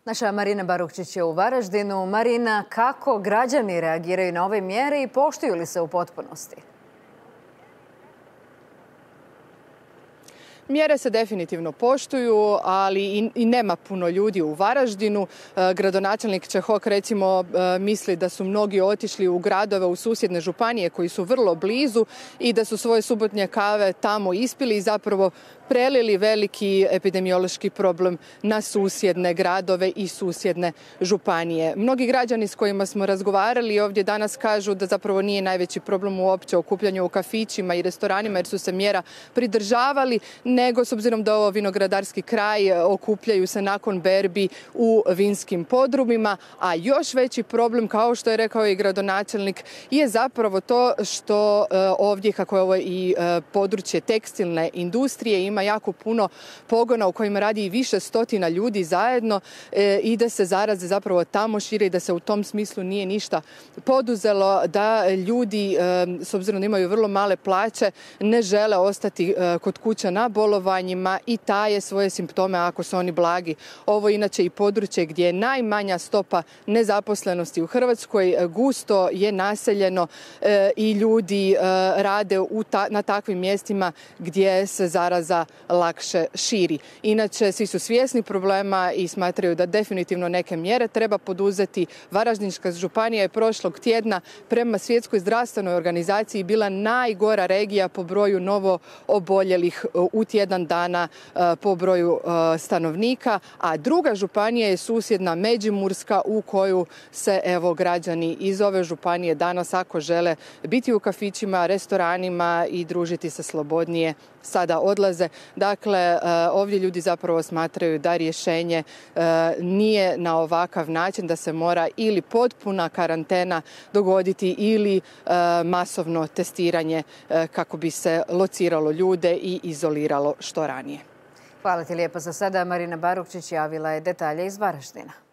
Naša Marina Barukčić je u Varaždinu. Marina, kako građani reagiraju na ove mjere i poštuju li se u potpunosti? Mjere se definitivno poštuju, ali i nema puno ljudi u Varaždinu. Gradonačelnik Čehok recimo misli da su mnogi otišli u gradove u susjedne županije koji su vrlo blizu i da su svoje subotnje kave tamo ispili i zapravo prelili veliki epidemiološki problem na susjedne gradove i susjedne županije. Mnogi građani s kojima smo razgovarali ovdje danas kažu da zapravo nije najveći problem uopće okupljanje u kafićima i restoranima jer su se mjera pridržavali, nego s obzirom da je ovo vinogradarski kraj, okupljaju se nakon berbi u vinskim podrumima, a još veći problem, kao što je rekao i gradonačelnik, je zapravo to što ovdje, kako je ovo i područje tekstilne industrije, ima jako puno pogona u kojima radi i više stotina ljudi zajedno i da se zaraze zapravo tamo šire i da se u tom smislu nije ništa poduzelo, da ljudi, s obzirom da imaju vrlo male plaće, ne žele ostati kod kuća na bolovanjima i taje svoje simptome ako su oni blagi. Ovo je inače i područje gdje je najmanja stopa nezaposlenosti u Hrvatskoj, gusto je naseljeno i ljudi rade na takvim mjestima gdje se zaraza lakše širi. Inače, svi su svjesni problema i smatraju da definitivno neke mjere treba poduzeti. Varaždinska županija je prošlog tjedna prema Svjetskoj zdravstvenoj organizaciji bila najgora regija po broju novo oboljelih u tjedan dana po broju stanovnika, a druga županija je susjedna Međimurska u koju se građani iz ove županije danas, ako žele biti u kafićima, restoranima i družiti se slobodnije, sada odlaze. Dakle, ovdje ljudi zapravo smatraju da rješenje nije na ovakav način, da se mora ili potpuna karantena dogoditi ili masovno testiranje kako bi se lociralo ljude i izoliralo što ranije. Hvala ti lijepo za sada. Marina Barukčić javila je detalje iz Varaždina.